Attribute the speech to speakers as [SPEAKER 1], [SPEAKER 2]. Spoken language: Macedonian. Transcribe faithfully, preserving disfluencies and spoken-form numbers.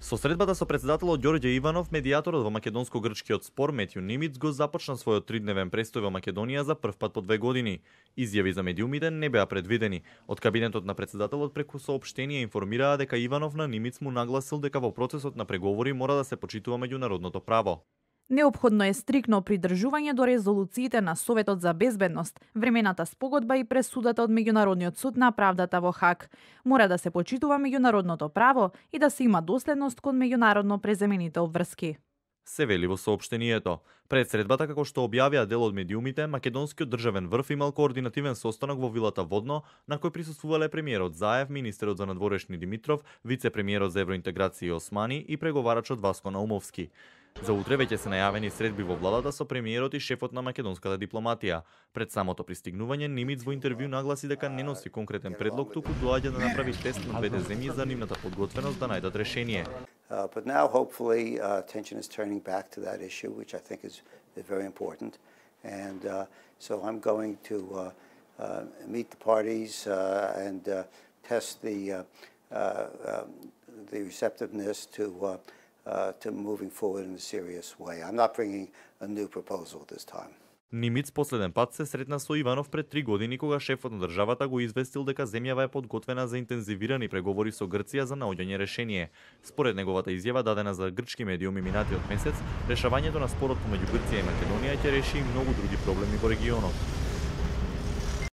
[SPEAKER 1] Со средбата со председателот Ѓорѓе Иванов, медијаторот во македонско-грчкиот спор Метју Нимиц го започна својот тридневен престој во Македонија за прв пат по две години. Изјави за медиумите не беа предвидени. Од кабинетот на председателот преку соопштение информираа дека Иванов на Нимиц му нагласил дека во процесот на преговори мора да се почитува меѓународното право.
[SPEAKER 2] Неопходно е стрикно придржување до резолуциите на Советот за безбедност, времената спогодба и пресудата од Меѓународниот суд на правдата во Хаг. Мора да се почитува меѓународното право и да се има доследност кон меѓународно преземените обврски.
[SPEAKER 1] Се вели во соопштението. Пред средбата, како што објавија дел од медиумите, македонскиот државен врв имал координативен состанок во вилата Водно, на кој присуствувале премиерот Заев, министерот за надворешни Димитров, вице-премиерот за евроинтеграција Османи и преговарачот Васко Наумовски. За утре веќе се најавени средби во владата со премиерот и шефот на македонската дипломатија. Пред самото пристигнување, Нимиц во интервју нагласи дека не носи конкретен предлог, туку доаѓа да направи тест на двете земји за нивната подготвеност да најдат решение.
[SPEAKER 3] Uh, but now, hopefully, uh, attention is turning back to that issue, which I think is, is very important. And uh, so I'm going to uh, uh, meet the parties uh, and uh, test the, uh, uh, uh, the receptiveness to, uh, uh, to moving forward in a serious way. I'm not bringing a new proposal this time.
[SPEAKER 1] Нимиц последен пат се сретна со Иванов пред три години кога шефот на државата го известил дека земјава е подготвена за интензивирани преговори со Грција за наоѓање решение. Според неговата изјава дадена за грчки медиуми минатиот месец, решавањето на спорот помеѓу Грција и Македонија ќе реши и многу други проблеми во регионот.